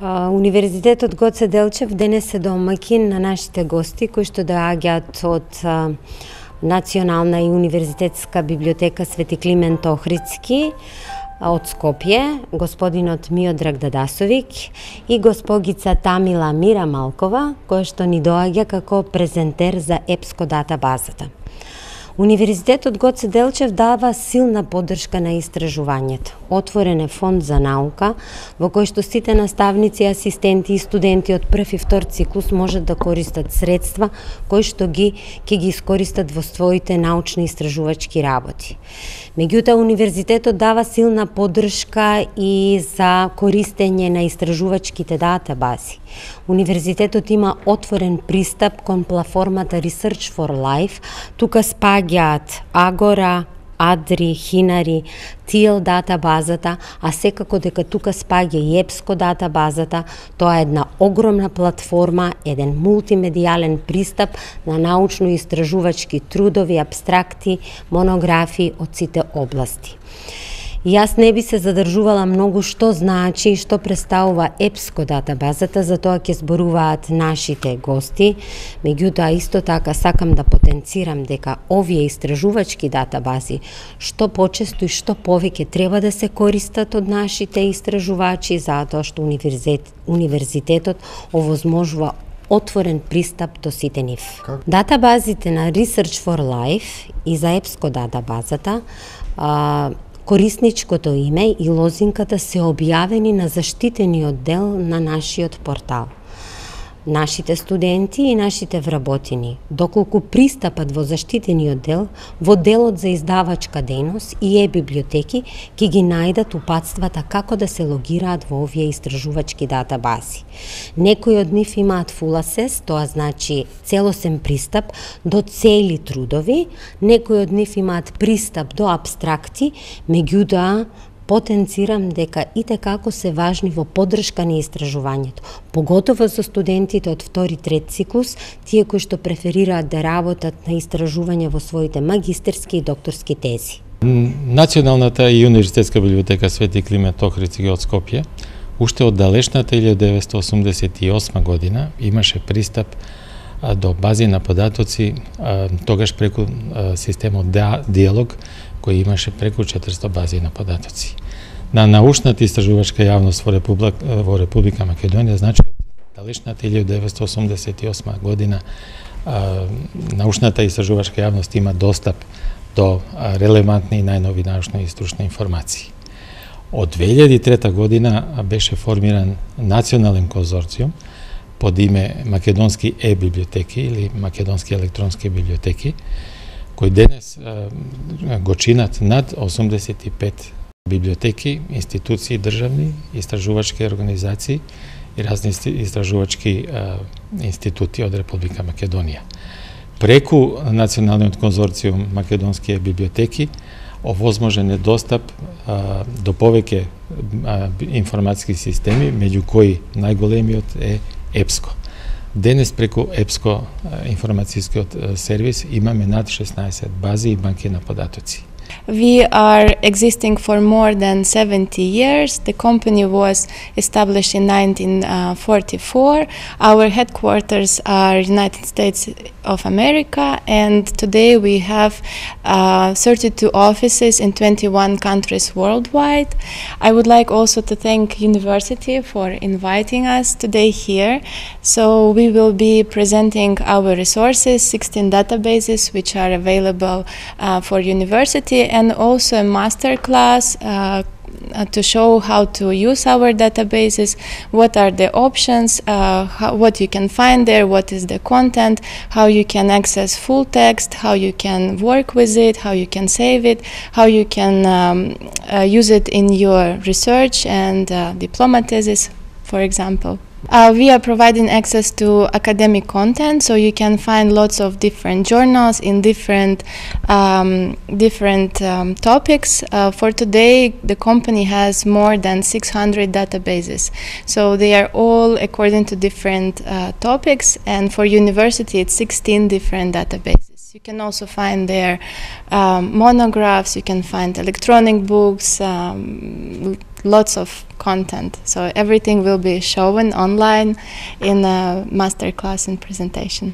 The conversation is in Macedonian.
Универзитетот Гоце Делчев денес е домаќин на нашите гости кои што доаѓаат од Национална и универзитетска библиотека Свети Климент Охридски од Скопје, господинот Миодраг Дадасовик и госпогица Тамила Мирамалкова, која што ни доаѓа како презентер за ЕПСКО датабазата. Универзитетот Гоце Делчев дава силна поддршка на истражувањето. Отворен е фонд за наука, во кој што сите наставници, асистенти и студенти од прв и втор циклус можат да користат средства кои што ќе ги искористат во своите научно-истражувачки работи. Меѓутоа, универзитетот дава силна поддршка и за користење на истражувачките датабази. Универзитетот има отворен пристап кон платформата Research for Life. Тука спаѓаат Агора, Адри, Хинари, TL датабазата, а секако дека тука спаѓа и ЕПСКО датабазата. Тоа е една огромна платформа, еден мултимедијален пристап на научно-истражувачки трудови, апстракти, монографии од сите области. И јас не би се задржувала многу што значи и што представува ЕПСКО датабазата, за тоа ќе зборуваат нашите гости. Меѓутоа, исто така сакам да потенцирам дека овие истражувачки датабази што почесто и што повеќе треба да се користат од нашите истражувачи, затоа што универзитетот овозможува отворен пристап до сите нив. Датабазите на Research for Life и за ЕПСКО датабазата корисничкото име и лозинката се објавени на заштитениот дел на нашиот портал. Нашите студенти и нашите вработени, доколку пристапат во заштитениот дел, во делот за издавачка дејност и е-библиотеки, ќе ги најдат упатствата како да се логираат во овие истражувачки датабази. Некои од нив имаат full access, тоа значи целосен пристап до цели трудови, некои од нив имаат пристап до апстракти, меѓутоа потенцирам дека итекако се важни во поддршка на истражувањето, поготово за студентите од втори и трет циклус, тие кои што преферираат да работат на истражување во своите магистерски и докторски тези. Националната и универзитетска библиотека Свети Климент Охридски од Скопје уште од далечната 1988 година имаше пристап до бази на податоци, тогаш преку системот Диалог, кој имаше преку 400 бази на податоци. На научната истражувачка јавност во Република Македонија, значи од далечната 1988 година научната истражувачка јавност има достап до релевантни и најнови научни и стручни информации. Од 2003 година беше формиран национален конзорциум под име Македонски е-библиотеки или Македонски електронски библиотеки, кои денес го чинат над 85 библиотеки, институции државни, истражувачки организации и разни истражувачки институти од Република Македонија. Преку националниот конзорциум Македонски библиотеки овозможен е достап до повеќе информатски системи, меѓу кои најголемиот е ЕПСКО. Денес преку ЕПСКО информацијскиот сервис имаме над 16 бази и банки на податоци. We are existing for more than 70 years. The company was established in 1944. Our headquarters are United States of America, and today we have 32 offices in 21 countries worldwide. I would like also to thank university for inviting us today here. So we will be presenting our resources, 16 databases which are available for university, and also a master class to show how to use our databases, what are the options, what you can find there, what is the content, how you can access full text, how you can work with it, how you can save it, how you can use it in your research and diploma thesis, for example. We are providing access to academic content, so you can find lots of different journals in different topics. For today, the company has more than 600 databases, so they are all according to different topics, and for university it's 16 different databases. You can also find there monographs, you can find electronic books, lots of content. So everything will be shown online in a masterclass and presentation.